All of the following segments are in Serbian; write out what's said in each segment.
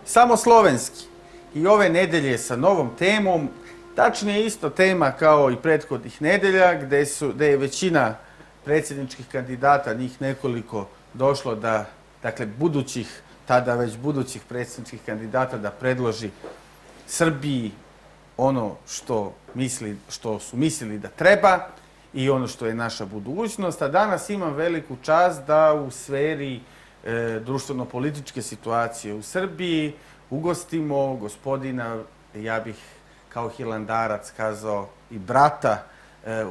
samo slovenski. I ove nedelje sa novom temom, tačnije isto tema kao i prethodnih nedelja, gde je većina predsjedničkih kandidata, njih nekoliko, došlo da, dakle, tada već budućih predsjedničkih kandidata da predloži Srbiji ono što su mislili da treba i ono što je naša budućnost. A danas imam veliku čast da u sferi društveno-političke situacije u Srbiji ugostimo gospodina, ja bih kao hilandarac kazao i brata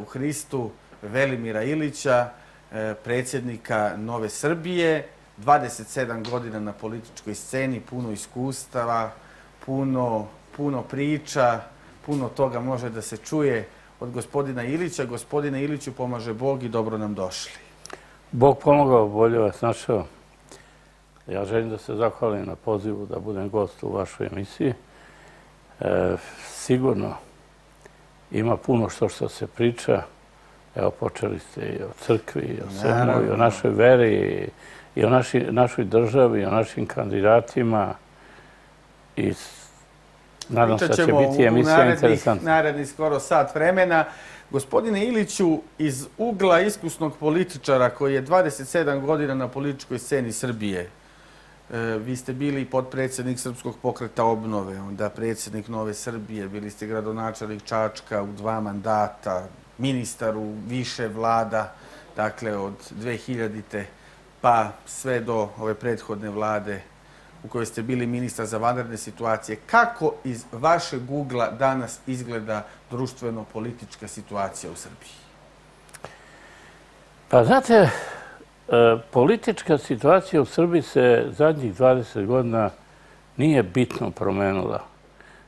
u Hristu, Velimira Ilića, predsjednika Nove Srbije, 27 godina na političkoj sceni, puno iskustava, puno priča, puno toga može da se čuje od gospodina Ilića. Gospodine Iliću, pomaže Bog i dobro nam došli. Bog pomogao, bolje vas našao. Ja želim da se zahvalim na pozivu da budem gost u vašoj emisiji. Sigurno ima puno što se priča. Evo, počeli ste i o crkvi, i o svemu, i o našoj veri, i o našoj državi, i o našim kandidatima. I nadam se da će biti emisija interesantna. Naredni skoro sat vremena. Gospodine Iliću, iz ugla iskusnog političara koji je 27 godina na političkoj sceni Srbije, vi ste bili potpredsjednik Srpskog pokreta obnove, onda predsjednik Nove Srbije, bili ste gradonačelnik Čačka u 2 mandata, ministar u više vlada, dakle od 2000. pa sve do ove prethodne vlade u kojoj ste bili ministar za vanredne situacije. Kako iz vašeg ugla danas izgleda društveno-politička situacija u Srbiji? Pa znate, politička situacija u Srbiji se zadnjih 20 godina nije bitno promenila.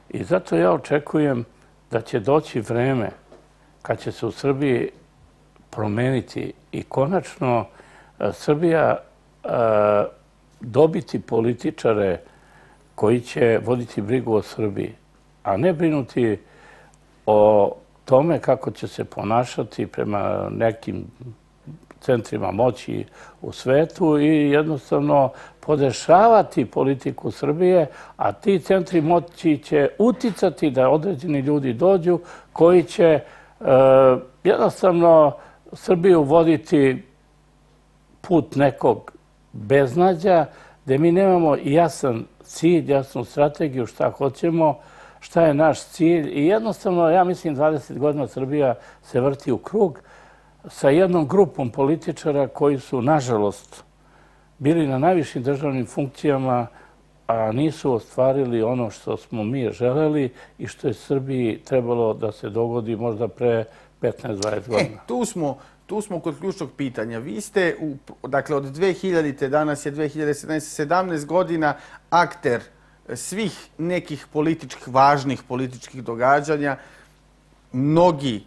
I zato ja očekujem da će doći vreme kad će se u Srbiji promeniti i konačno Srbija dobiti političare koji će voditi brigu o Srbiji, a ne brinuti o tome kako će se ponašati prema nekim centrima moći u svetu i jednostavno podešavati politiku Srbije, a ti centri moći će uticati da određeni ljudi dođu koji će jednostavno Srbiju voditi put nekog beznađa, gde mi nemamo jasan cilj, jasnu strategiju šta hoćemo, šta je naš cilj. I jednostavno, ja mislim, 20 godina Srbija se vrti u krug sa jednom grupom političara koji su, nažalost, bili na najvišim državnim funkcijama, a nisu ostvarili ono što smo mi želeli i što je Srbiji trebalo da se dogodi možda pre 15-20 godina. Tu smo kod ključnog pitanja. Vi ste, dakle, od 2000. danas je 2017. 17 godina akter svih nekih važnih političkih događanja. Mnogi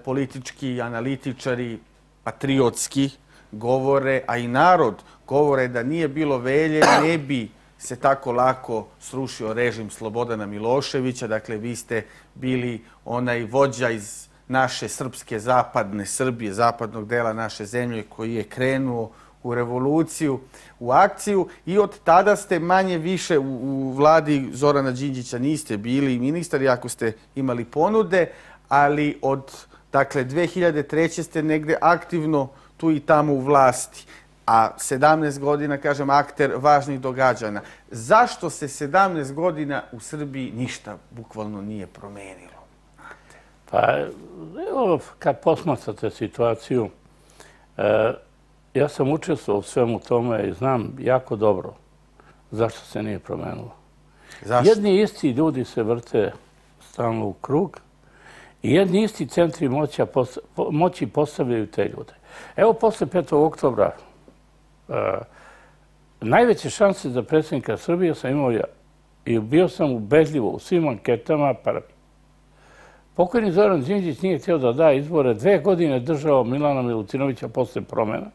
politički analitičari, patriotski, govore, a i narod govore da nije bilo Velje, ne bi se tako lako srušio režim Slobodana Miloševića. Dakle, vi ste bili onaj vođa iz naše srpske zapadne Srbije, zapadnog dela naše zemlje koji je krenuo u revoluciju, u akciju i od tada ste manje više u vladi Zorana Đinđića niste bili ministar, iako ste imali ponude, ali od, dakle, 2003. ste negde aktivno tu i tamo u vlasti, a 17 godina, kažem, akter važnih događanja. Zašto se 17 godina u Srbiji ništa bukvalno nije promenilo? Pa, evo, kad posmatrate situaciju, ja sam učestvovao u svemu tome i znam jako dobro zašto se nije promenilo. Zašto? Jedni isti ljudi se vrte stalno u krug i jedni isti centri moći postavljaju te ljude. Evo, posle 5. oktobra, najveće šanse za predsjednika Srbije sam imao ja. I bio sam ubedljivo u svim anketama prvi. Pokojni Zoran Đinđić nije htio da da izbore. 2 godine držao Milana Milutinovića posle promjena,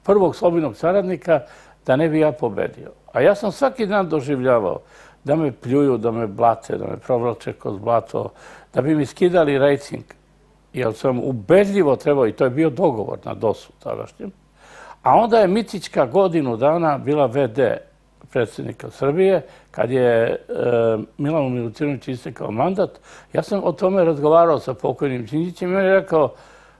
prvog slobodnog saradnika, da ne bi ja pobedio. A ja sam svaki dan doživljavao da me pljuju, da me blate, da me provlače kroz blato, da bi mi skidali rejting. Jer sam ubedljivo trebao, i to je bio dogovor na DOS-u tadašnjem. A onda je Mitićka godinu dana bila VD predsjednika Srbije, kad je Milanu Milutinoviću istekao mandat, ja sam o tome razgovarao sa pokojnim Đinđićem i on je rekao,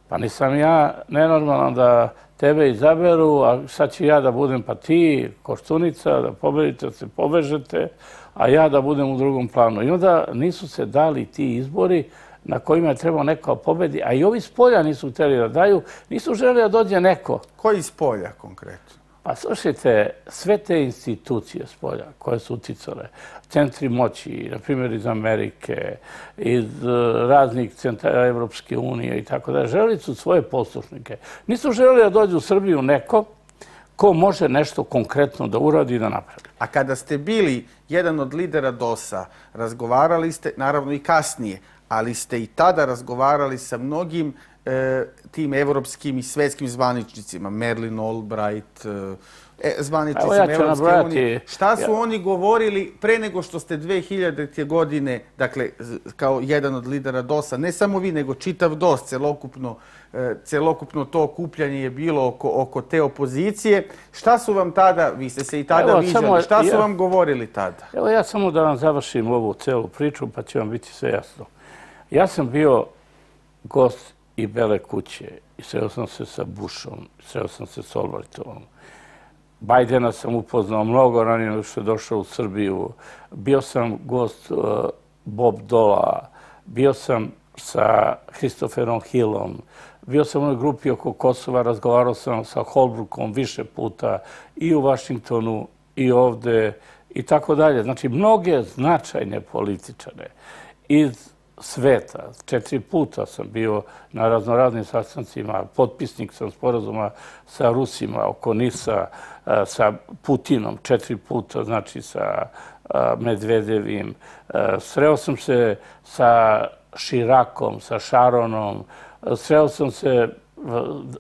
pa nisam ja nenormalan da tebe izaberu, a sad ću ja da budem pa ti, Koštunica, da pobedite, da se povežete, a ja da budem u drugom planu. I onda nisu se dali ti izbori na kojima je trebao neko pobedi, a i ovi s polja nisu htjeli da daju, nisu želeli da dođe neko. Koji s polja konkretno? Pa slušajte, sve te institucije s polja koje su uticale, centri moći, na primjer iz Amerike, iz raznih centara Evropske unije i tako da, želeli su svoje poslušnike. Nisu želeli da dođu u Srbiju neko ko može nešto konkretno da uradi i da napravi. A kada ste bili jedan od lidera DOS-a, razgovarali ste, naravno i kasnije, ali ste i tada razgovarali sa mnogim tim evropskim i svetskim zvaničnicima, Madeleine Albright, zvaničnicima Evropske unije. Šta su oni govorili pre nego što ste 2000. godine, dakle, kao jedan od lidera DOS-a, ne samo vi, nego čitav DOS, celokupno to okupljanje je bilo oko te opozicije. Šta su vam tada, vi ste se i tada viđali, šta su vam govorili tada? Evo ja samo da vam završim ovu celu priču, pa će vam biti sve jasno. Ja sam bio gost i Bele kuće i sreo sam se sa Bushom, sreo sam se s Albrightom. Bajdena sam upoznao mnogo ranije nego što je došao u Srbiju. Bio sam gost Bob Dola, bio sam sa Christopherom Hillom, bio sam u onoj grupi oko Kosova, razgovarao sam sa Holbrookom više puta i u Vašingtonu i ovde i tako dalje. Znači, mnoge značajne političare iz sveta. 4 puta sam bio na raznoraznim sastancima, potpisnik sam sporazuma sa Rusima oko Nisa, sa Putinom 4 puta, znači sa Medvedevim. Sreo sam se sa Širakom, sa Šaronom, sreo sam se,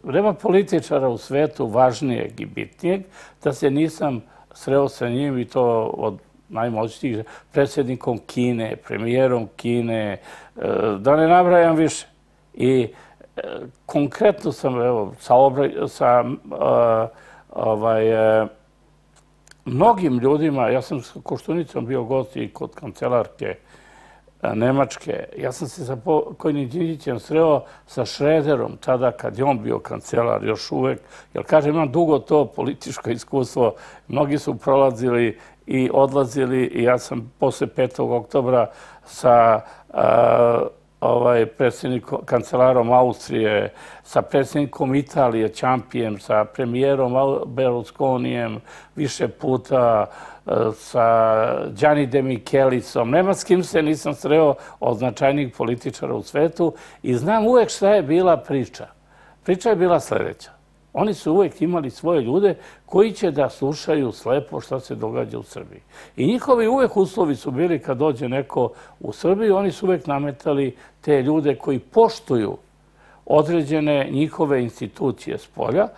nema političara u svetu važnijeg i bitnijeg, da se nisam sreo sa njim i to od najmoćnijih, predsjednikom Kine, premijerom Kine, da ne nabrajam više. I konkretno sam, evo, sa mnogim ljudima, ja sam s Koštunicom bio gost i kod kancelarke Nemačke. Ja sam se sa pokojnim Đinđićem sreo sa Šrederom, tada kad je on bio kancelar još uvek. Jer, kažem, imam dugo to političko iskustvo. Mnogi su prolazili i odlazili i ja sam posle 5. oktobra sa predsjednikom, kancelarom Austrije, sa predsjednikom Italije, Ciampijem, sa premijerom Berlusconijem više puta, sa Gianni De Michelisom. Nema s kim se nisam sreo od značajnijih političara u svetu i znam uvek šta je bila priča. Priča je bila sljedeća. Oni su uvek imali svoje ljude koji će da slušaju slepo šta se događa u Srbiji. I njihovi uvek uslovi su bili kad dođe neko u Srbiju, oni su uvek nametali te ljude koji poštuju određene njihove institucije s polja,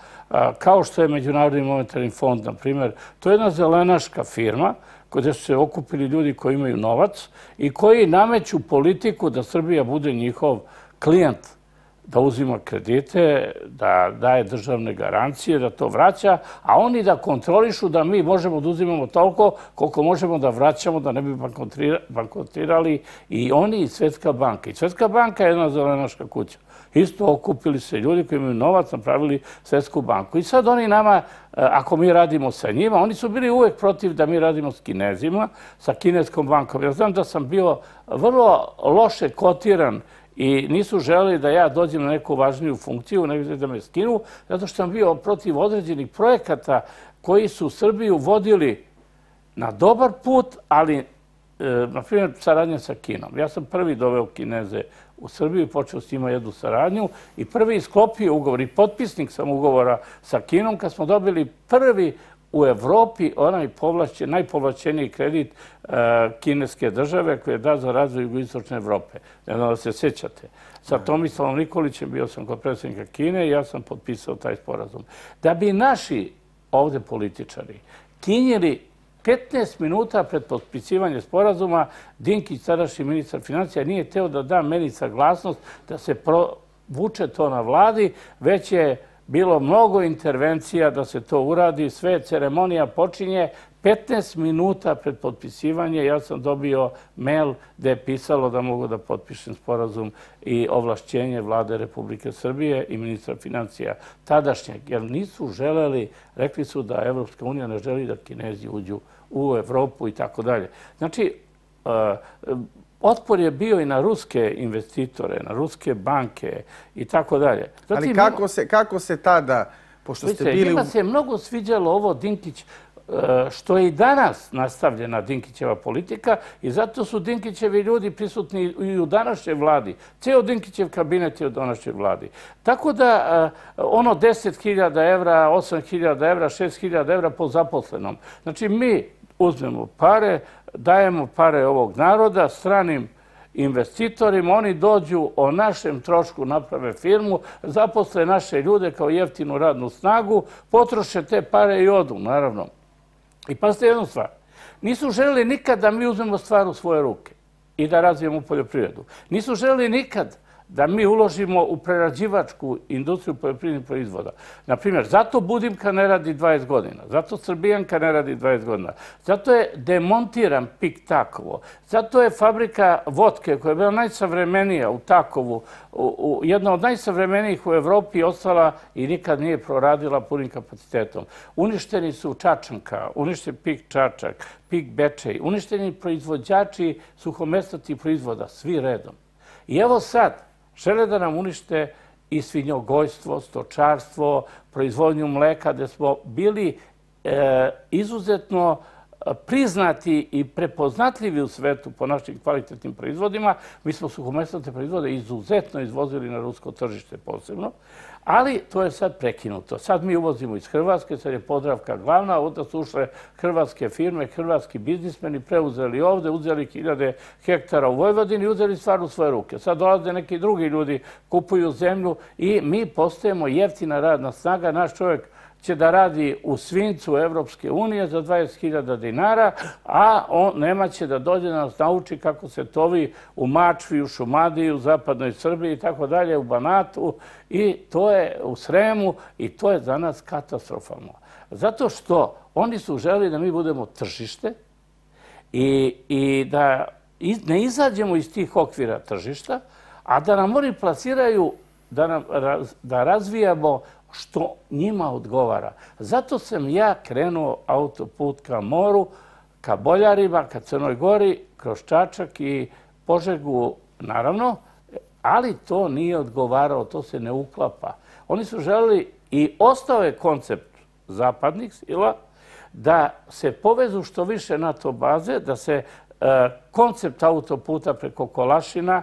kao što je Međunarodni monetarni fond, na primjer. To je jedna zelenaška firma gdje su se okupili ljudi koji imaju novac i koji nameću politiku da Srbija bude njihov klijent, da uzima kredite, da daje državne garancije, da to vraća, a oni da kontrolišu da mi možemo da uzimamo toliko koliko možemo da vraćamo, da ne bi bankrotirali i oni i Svetska banka. I Svetska banka je jedna zelenaška kuća. Isto okupili se ljudi koji imaju novac, napravili Svetsku banku. I sad oni nama, ako mi radimo sa njima, oni su bili uvek protiv da mi radimo s Kinezima, sa Kineskom bankom. Ja znam da sam bio vrlo loše kotiran i nisu želeli da ja dođem na neku važniju funkciju, nego da me skinu, zato što sam bio protiv određenih projekata koji su Srbiju vodili na dobar put, ali, na primjer, saradnja sa Kinom. Ja sam prvi doveo Kineze u Srbiju i počeo s njima jednu saradnju i prvi sklopio ugovor i potpisnik sam ugovora sa Kinom kad smo dobili prvi u Evropi onaj najpovlašćeniji kredit kineske države koji je dat za razvoj jugoistočne Evrope. Ne znam da se sjećate. Sa Tomislavom Nikolićem bio sam kod predsjednika Kine i ja sam potpisao taj sporazum. Da bi naši ovde političari kinjili 15 minuta pred potpisivanje sporazuma, Dinkić, tadašnji ministar financija, nije hteo da da meni saglasnost da se provuče to na vladi, već je bilo mnogo intervencija da se to uradi, sve ceremonija počinje 15 minuta pred potpisivanje ja sam dobio mail gde je pisalo da mogu da potpišem sporazum i ovlašćenje Vlade Republike Srbije i ministra financija tadašnjeg, jer nisu želeli, rekli su da Evropska unija ne želi da Kinezi uđu u Evropu i tako dalje. Znači, otpor je bio i na ruske investitore, na ruske banke i tako dalje. Ali kako se tada, pošto ste bili... Njima se mnogo sviđalo ovo Dinkić, što je i danas nastavljena Dinkićeva politika i zato su Dinkićevi ljudi prisutni i u današnjoj vladi. Ceo Dinkićev kabinet je u današnjoj vladi. Tako da ono 10.000 evra, 8.000 evra, 6.000 evra po zaposlenom. Znači mi uzmemo pare, dajemo pare ovog naroda stranim investitorima, oni dođu o našem trošku, naprave firmu, zaposle naše ljude kao jeftinu radnu snagu, potroše te pare i odu, naravno. I pazite jednu stvar, nisu želeli nikad da mi uzmemo stvar u svoje ruke i da razvijemo poljoprivredu. Nisu želeli nikad da mi uložimo u prerađivačku industriju poljoprivrednih proizvoda. Naprimjer, zato Budimka ne radi 20 godina, zato Srbijanka ne radi 20 godina, zato je demontiran PIK Takovo, zato je fabrika vodke koja je bila najsavremenija u Takovu, jedna od najsavremenijih u Evropi, ostala i nikad nije proradila punim kapacitetom. Uništeni su Čačanka, uništen PIK Čačak, PIK Bečej, uništeni proizvođači suhomesnatih proizvoda, svi redom. I evo sad, žele da nam unište i svinjogojstvo, stočarstvo, proizvodnju mleka, gde smo bili izuzetno priznati i prepoznatljivi u svetu po našim kvalitetnim proizvodima. Mi smo suhomesnate proizvode izuzetno izvozili na rusko tržište posebno, ali to je sad prekinuto. Sad mi uvozimo iz Hrvatske, sad je Podravka glavna, onda su ušle hrvatske firme, hrvatski biznismeni, preuzeli ovde, uzeli 1000 hektara u Vojvodini i uzeli stvar u svoje ruke. Sad dolaze neki drugi ljudi, kupuju zemlju i mi postajemo jeftina radna snaga. Naš čovjek će da radi u svincu Evropske unije za 20.000 dinara, a nema će da dođe da nas nauči kako se tovi u Mačvi, u Šumadiji, u zapadnoj Srbiji i tako dalje, u Banatu i to je u Sremu i to je za nas katastrofalno. Zato što oni su želeli da mi budemo tržište i da ne izađemo iz tih okvira tržišta, a da nam oni plasiraju da razvijamo što njima odgovara. Zato sam ja krenuo autoput ka moru, ka Boljarima, ka Crnoj Gori, kroz Čačak i Požegu, naravno, ali to nije odgovaralo, to se ne uklapa. Oni su želeli i ostao je koncept zapadnih sila da se povezu što više NATO baze, da se koncept autoputa preko Kolašina,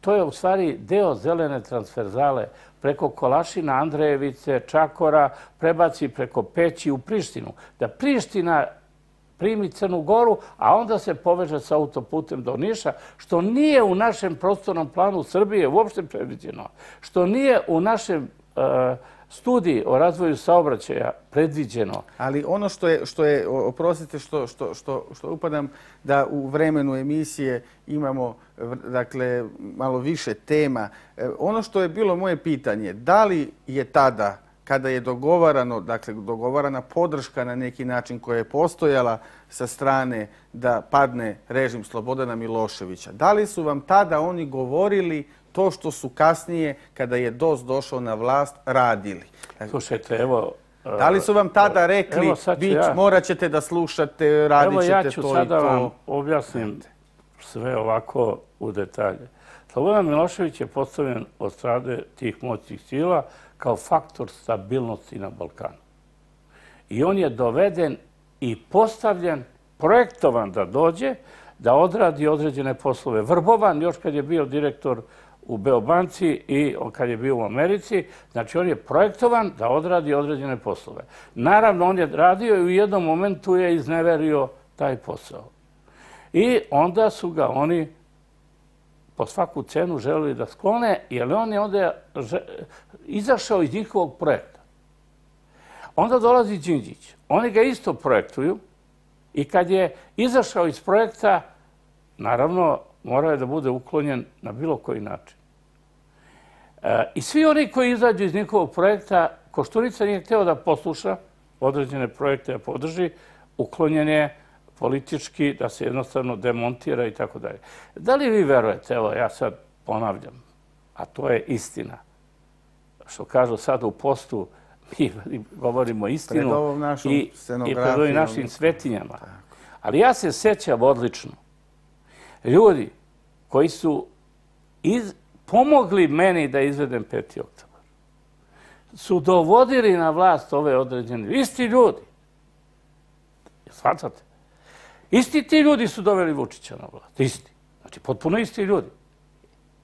to je u stvari deo zelene transverzale, preko Kolašina, Andrejevice, Čakora, prebaci preko Peći u Prištinu. Da Priština primi Crnu Goru, a onda se poveže sa autoputem do Niša, što nije u našem prostornom planu Srbije uopšte predviđeno, što nije u našem studiji o razvoju saobraćaja predviđeno. Ali ono što je, oprostite što upadam, da u vremenu emisije imamo dakle malo više tema. Ono što je bilo moje pitanje, da li je tada, kada je dogovarano, dakle dogovarana podrška na neki način koja je postojala sa strane da padne režim Slobodana Miloševića, da li su vam tada oni govorili to što su kasnije, kada je DOS došao na vlast, radili? Slušajte, evo... Da li su vam tada rekli, morat ćete da slušate, radit ćete to i to? Evo ja ću sada vam objasnim sve ovako u detalje. Slobodan Milošević je postavljen od strane tih moćnih sila kao faktor stabilnosti na Balkanu. I on je doveden i postavljen, projektovan da dođe, da odradi određene poslove. Vrbovan, još kad je bio direktor u Beobanci i kad je bio u Americi, znači on je projektovan da odradi određene poslove. Naravno, on je radio i u jednom momentu je izneverio taj posao. I onda su ga oni po svaku cenu želeli da sklone, jer on je onda izašao iz njihovog projekta. Onda dolazi Đinđić. Oni ga isto projektuju i kad je izašao iz projekta, naravno, morao je da bude uklonjen na bilo koji način. I svi oni koji izađu iz njihovog projekta, Koštunica nije hteo da posluša određene projekte da podrži, uklonjen je politički da se jednostavno demontira i tako dalje. Da li vi verujete, evo ja sad ponavljam, a to je istina, što kažu sad u postu, mi govorimo istinu i pred ovim našim svetinjama. Ali ja se sjećam odlično. Ljudi koji su pomogli meni da izvedem 5. oktobar su dovodili na vlast ove određene. Isti ljudi. Shvatate? Isti ti ljudi su doveli Vučića na vlast. Isti. Znači, potpuno isti ljudi.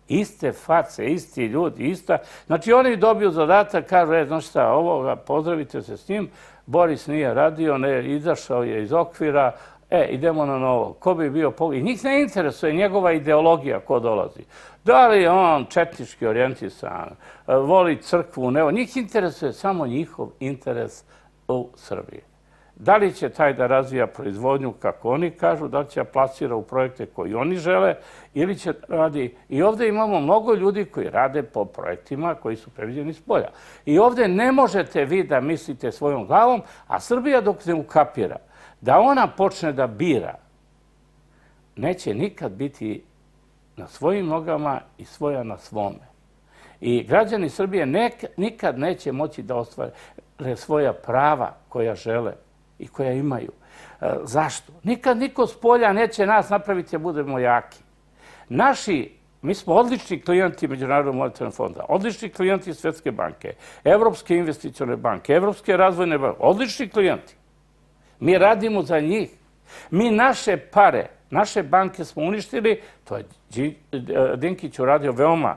Iste face, isti ljudi, ista. Znači, oni dobiju zadatak, kažu, znaš šta, ovoga, pozdravite se s njim, Boris nije radio, izašao je iz okvira, idemo na novo. Ko bi bio i njih ne interesuje njegova ideologija ko dolazi. Da li je on četnički orijentisan, voli crkvu, ne, njih interesuje samo njihov interes u Srbiji. Da li će taj da razvija proizvodnju, kako oni kažu, da li će plasira u projekte koji oni žele, ili će radi... I ovdje imamo mnogo ljudi koji rade po projektima koji su previđeni s polja. I ovdje ne možete vi da mislite svojom glavom, a Srbija dok ne ukapira da ona počne da bira, neće nikad biti na svojim nogama i svoja na svome. I građani Srbije nikad neće moći da ostvare svoja prava koja žele i koja imaju. Zašto? Nikad niko s polja neće nas napraviti da budemo jaki. Mi smo odlični klijenti Međunarodnog monetarnog fonda, odlični klijenti Svetske banke, Evropske investicione banke, Evropske razvojne banke, odlični klijenti. Mi radimo za njih. Mi naše pare, naše banke smo uništili, to je Dinkić uradio veoma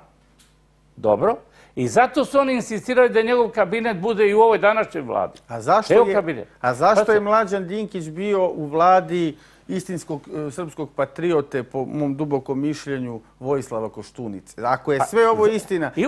dobro, i zato su oni insistirali da njegov kabinet bude i u ovoj današnjoj vladi. A zašto je Mlađan Dinkić bio u vladi istinskog srpskog patriote, po mom dubokom mišljenju, Vojislava Koštunice? Ako je sve ovo istina... I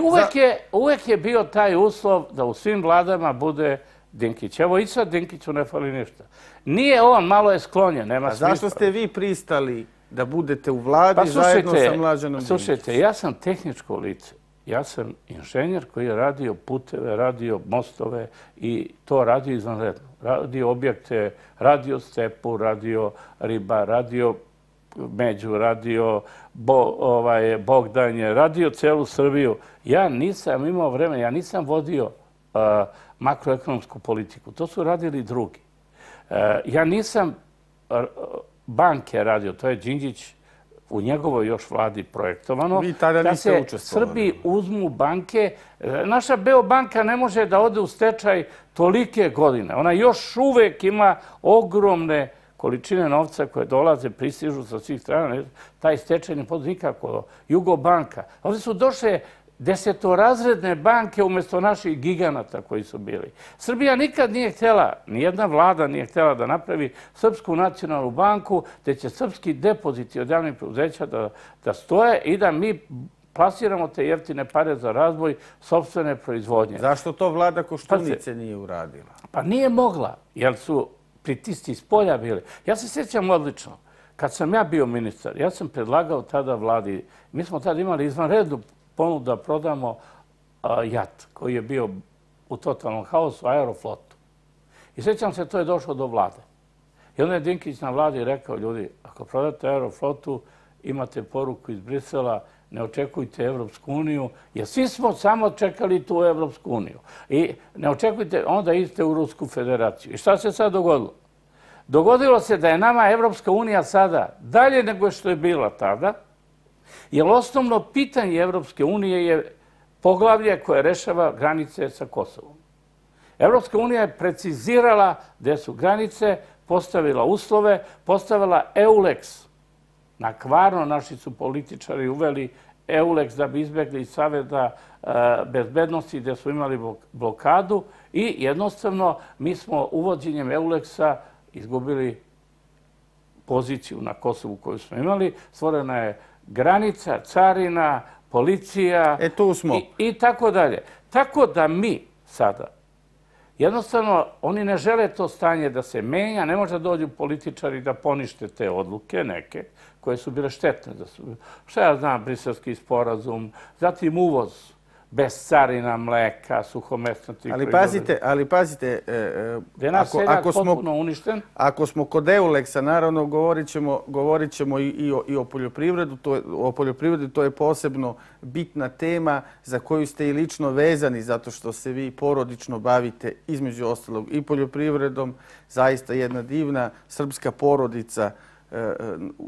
uvek je bio taj uslov da u svim vladama bude Dinkić. Evo i sad Dinkiću ne fali ništa. Nije on, malo je sklonjen, nema smisla. A zašto ste vi pristali da budete u vladi zajedno sa Mlađanom Dinkićem? Slušajte, ja sam tehničko lice. Ja sam inženjer koji je radio puteve, radio mostove i to radio izvanredno. Radio objekte, radio stepu, radio riba, radio Među, radio Bogdanje, radio celu Srbiju. Ja nisam imao vremena, ja nisam vodio makroekonomsku politiku. To su radili drugi. Ja nisam banke radio, to je Đinđić u njegovoj još vladi projektovano, da se Srbiji uzmu banke. Naša Beobanka ne može da ode u stečaj tolike godine. Ona još uvek ima ogromne količine novca koje dolaze, pristižu sa svih strana. Taj stečaj ne postoji nikako. Jugobanka. Ovdje su došle desetorazredne banke umjesto naših giganata koji su bili. Srbija nikad nije htjela, nijedna vlada nije htjela da napravi Srpsku nacionalnu banku, gdje će srpski depoziti od javnih preduzeća da stoje i da mi plasiramo te jeftine pare za razvoj sopstvene proizvodnje. Zašto to vlada Koštunice nije uradila? Pa nije mogla, jer su pritisci iz polja bili. Ja se sjećam odlično. Kad sam ja bio ministar, ja sam predlagao tada vladi, mi smo tada imali izvanrednu ponudu da prodamo JAT koji je bio u totalnom haosu, Aeroflotu. I sjećam se, to je došlo do vlade. I onda je Dinkić na vladi rekao, ljudi, ako prodate Aeroflotu, imate poruku iz Brisela, ne očekujte Evropsku uniju, jer svi smo samo čekali tu Evropsku uniju. I ne očekujte, onda idete u Rusku federaciju. I šta se sad dogodilo? Dogodilo se da je nama Evropska unija sada dalje nego što je bila tada, jer osnovno pitanje Evropske unije je poglavlje koje rešava granice sa Kosovom. Evropska unija je precizirala gde su granice, postavila uslove, postavila EULEX. Na kvarno naši su političari uveli EULEX da bi izbjegli iz Saveta bezbednosti gde su imali blokadu i jednostavno mi smo uvođenjem EULEX-a izgubili poziciju na Kosovu koju smo imali. Stvorena je granica, carina, policija i tako dalje. Tako da mi sada, jednostavno, oni ne žele to stanje da se menja, ne može da dođu političari da ponište te odluke, neke, koje su bile štetne. Šta ja znam, Briselski sporazum, zatim uvoz. bez carina mleka, suhomesnatih proizvoda. Ali pazite, da je naš seljak potpuno uništen. Ako smo kod Euleksa, naravno govorit ćemo i o poljoprivredi. To je posebno bitna tema za koju ste i lično vezani, zato što se vi porodično bavite između ostalog i poljoprivredom. Zaista jedna divna srpska porodica.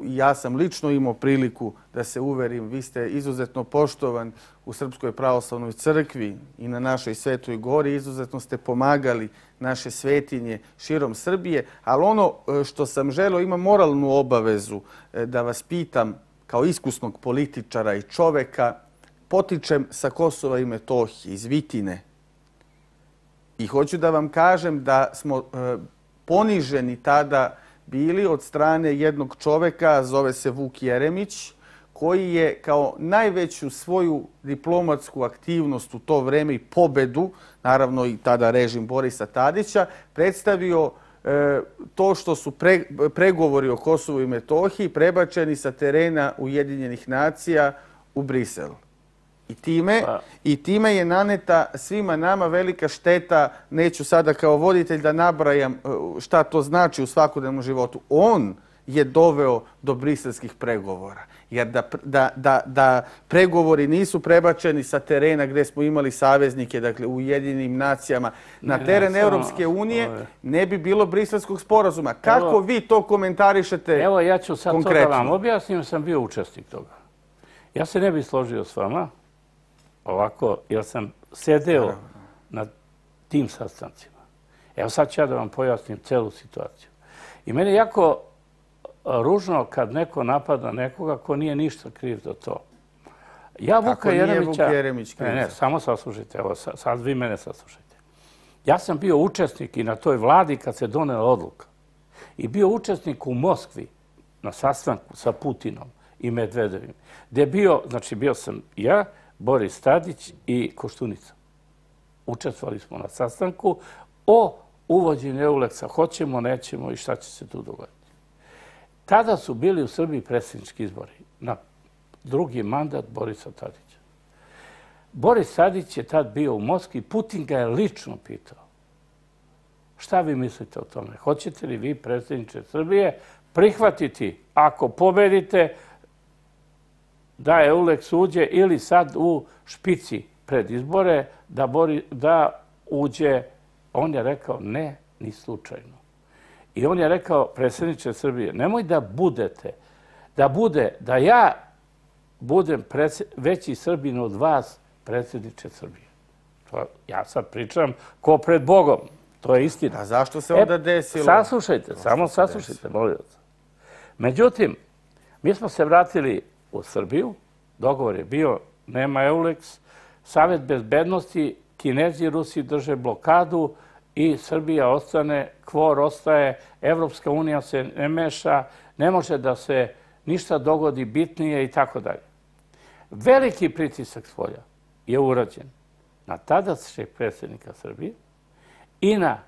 Ja sam lično imao priliku da se uverim, vi ste izuzetno poštovan u Srpskoj pravoslavnoj crkvi i na našoj Svetoj gori, izuzetno ste pomagali naše svetinje širom Srbije, ali ono što sam želeo, imam moralnu obavezu da vas pitam kao iskusnog političara i čoveka, potičem sa Kosova i Metohije, iz Vitine. I hoću da vam kažem da smo poniženi tada bili od strane jednog čoveka, zove se Vuk Jeremić, koji je kao najveću svoju diplomatsku aktivnost u to vreme i pobedu, naravno i tada režim Borisa Tadića, predstavio to što su pregovori o Kosovu i Metohiji prebačeni sa terena Ujedinjenih nacija u Brisel. I time je naneta svima nama velika šteta. Neću sada kao voditelj da nabrajam šta to znači u svakodnevnom životu. On je doveo do briselskih pregovora. Jer da pregovori nisu prebačeni sa terena gdje smo imali saveznike, dakle u Ujedinjenim nacijama, na teren Europske unije, ne bi bilo briselskog sporazuma. Kako vi to komentarišete konkretno? Evo, ja ću sad to da vam objasnim, jer sam bio učesnik toga. Ja se ne bih složio s vama ovako, jer sam sedeo na tim sastancima. Evo sad ću ja da vam pojasnim celu situaciju. I meni je jako ružno kad neko napada nekoga ko nije ništa kriv za to. Ja Vuka Jeremića... Ne, samo saslušajte. Evo, sad vi mene saslušajte. Ja sam bio učesnik i na toj vladi kad se donela odluka. I bio učesnik u Moskvi na sastanku sa Putinom i Medvedevim. Gde bio sam ja, Boris Tadić i Koštunica. Učestvovali smo na sastanku o uvođenju Euleksa. Hoćemo, nećemo i šta će se tu dogoditi. Tada su bili u Srbiji predsjednički izbori na drugi mandat Borisa Tadića. Boris Tadić je tad bio u Moskvi. Putin ga je lično pitao. Šta vi mislite o tome? Hoćete li vi, predsjedniče Srbije, prihvatiti, ako pobedite, da Euleks uđe ili sad u špici pred izbore, da uđe? On je rekao ne, ni slučajno. I on je rekao, predsjedniče Srbije, nemoj da budete, da ja budem veći Srbin od vas, predsjedniče Srbije. Ja sad pričam ko pred Bogom. To je istina. A zašto se onda desilo? Saslušajte, samo saslušajte, molim vas. Međutim, mi smo se vratili u Srbiju, dogovor je bio, nema Euleks, Savet bezbednosti, Kinezi i Rusi drže blokadu i Srbija ostane, KFOR ostaje, Evropska unija se ne meša, ne može da se ništa dogodi bitnije i tako dalje. Veliki pritisak spolja je urađen na tadašnjeg predsjednika Srbije i na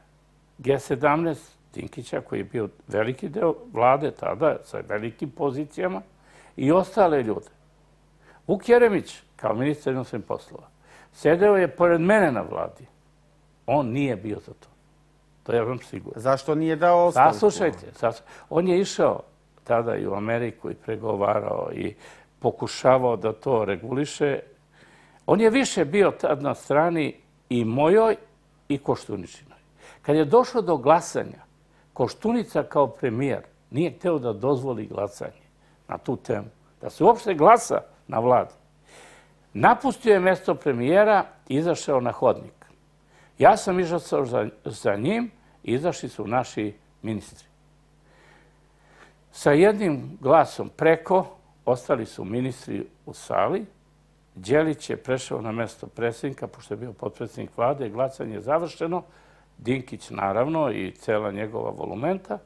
G17 Dinkića, koji je bio veliki deo vlade tada, sa velikim pozicijama, i ostale ljude. Vuk Jeremić, kao ministar inostranih poslova, sedeo je pored mene na vladi. On nije bio za to. To je vam sigurno. Zašto nije dao ostavku? Saslušajte. On je išao tada i u Ameriku i pregovarao i pokušavao da to reguliše. On je više bio tad na strani i mojoj i Koštuničinoj. Kad je došlo do glasanja, Koštunica kao premijer nije hteo da dozvoli glasanje na tu temu. Da se uopšte glasa na vladi. Napustio je mesto premijera i izašao na hodnik. Ja sam izašao za njim i izašli su naši ministri. Sa jednim glasom preko ostali su ministri u sali. Đelić je prešao na mesto predsjednika, pošto je bio potpredsjednik vlade, glasanje je završeno. Dinkić, naravno, i cela njegova volumenta.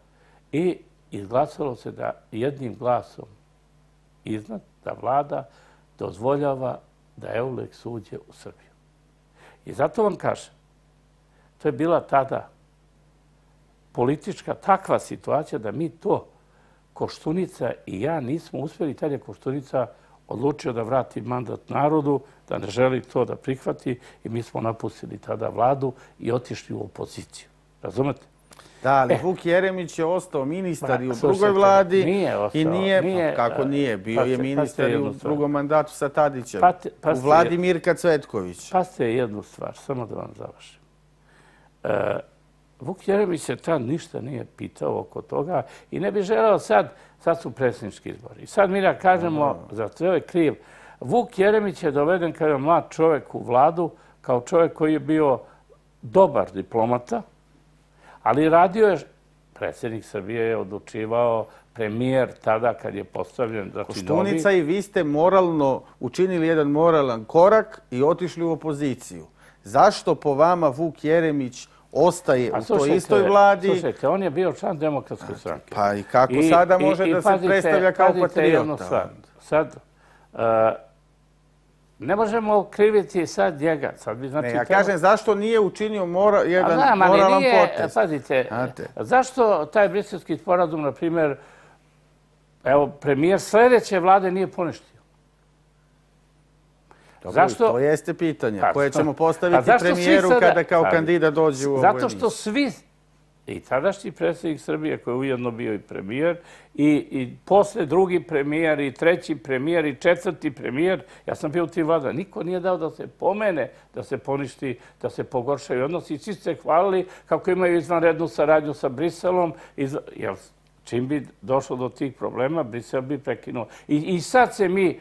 I izglasalo se da jednim glasom iznad, da vlada dozvoljava da Euleks uđe u Srbiju. I zato vam kažem, to je bila tada politička takva situacija da mi to, Koštunica i ja, nismo uspjeli. Tad je Koštunica odlučio da vrati mandat narodu, da ne želi to da prihvati i mi smo napustili tada vladu i otišli u opoziciju. Razumete? Da, ali Vuk Jeremić je ostao ministar i u drugoj vladi. Nije ostao. I nije, kako nije, bio je ministar i u drugom mandatu sa Tadićem. U vladi Mirka Cvetković. Pazite jednu stvar, samo da vam završim. Vuk Jeremić se tad ništa nije pitao oko toga i ne bi želeo sad su predsjednički izbori. I sad mi da kažemo, za to je kriv. Vuk Jeremić je doveden kao mlad čovjek u vladu, kao čovjek koji je bio dobar diplomata, ali radio je, predsjednik Srbije je odlučivao, premijer tada kad je postavljen. Koštunica i vi ste moralno učinili jedan moralan korak i otišli u opoziciju. Zašto po vama Vuk Jeremić ostaje u toj istoj vladi? Slušajte, on je bio član Demokratske stranke. Pa i kako sada može da se predstavlja kao patriota? Sad, ne možemo kriviti sad njega. Ne, ja kažem zašto nije učinio jedan moralan potez. Pazite, zašto taj briselski sporazum, na primjer, evo, premijer sljedeće vlade nije poništio? To jeste pitanje koje ćemo postaviti premijeru kada kao kandidat dođe u ovoj emisiji. Zato što svi, i tadašnji predsjednik Srbije koji je ujedno bio i premijer, i posle drugi premijer, i treći premijer, i četvrti premijer, ja sam bio u tim vlada, niko nije dao da se pomene, da se poništi, da se pogoršaju odnosi. I svi se hvalili kako imaju izvanrednu saradnju sa Briselom, jer čim bi došlo do tih problema, Brisel bi prekinuo. I sad se mi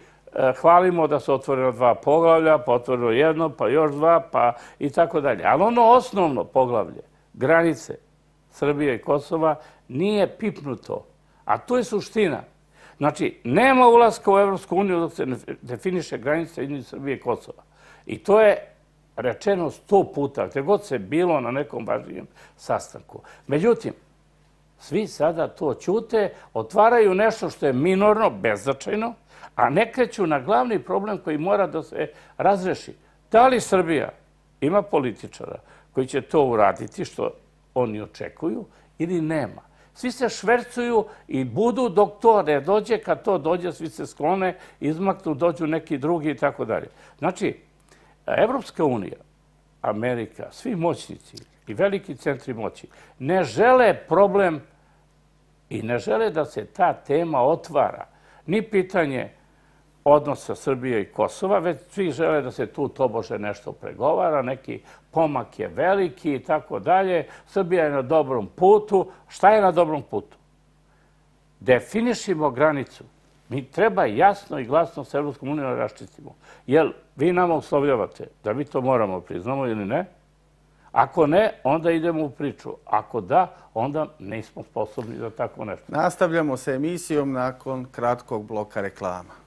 hvalimo da su otvoreno 2 poglavlja, pa otvoreno 1, pa još 2, pa i tako dalje. Ali ono osnovno poglavlje, granice Srbije i Kosova, nije pipnuto. A to je suština. Znači, nema ulaska u Evropsku uniju dok se ne definiše granica između Srbije i Kosova. I to je rečeno 100 puta, gdje god se bilo na nekom važnijem sastanku. Međutim, svi sada to ćute, otvaraju nešto što je minorno, beznačajno, a ne kreću na glavni problem koji mora da se razreši. Da li Srbija ima političara koji će to uraditi, što oni očekuju, ili nema? Svi se švercuju i budu dok to ne dođe, kad to dođe, svi se sklone, izmaknu, dođu neki drugi i tako dalje. Znači, Evropska unija, Amerika, svi moćnici i veliki centri moći ne žele problem i ne žele da se ta tema otvara. Ni pitanje odnosa Srbije i Kosova, već svi žele da se tu tobože nešto pregovara, neki pomak je veliki i tako dalje. Srbija je na dobrom putu. Šta je na dobrom putu? Definišimo granicu. Mi treba jasno i glasno s Evropskom unijom raščistimo. Jer vi nama uslovljavate da mi to moramo priznamo ili ne. Ako ne, onda idemo u priču. Ako da, onda nismo sposobni za tako nešto. Nastavljamo sa emisijom nakon kratkog bloka reklama.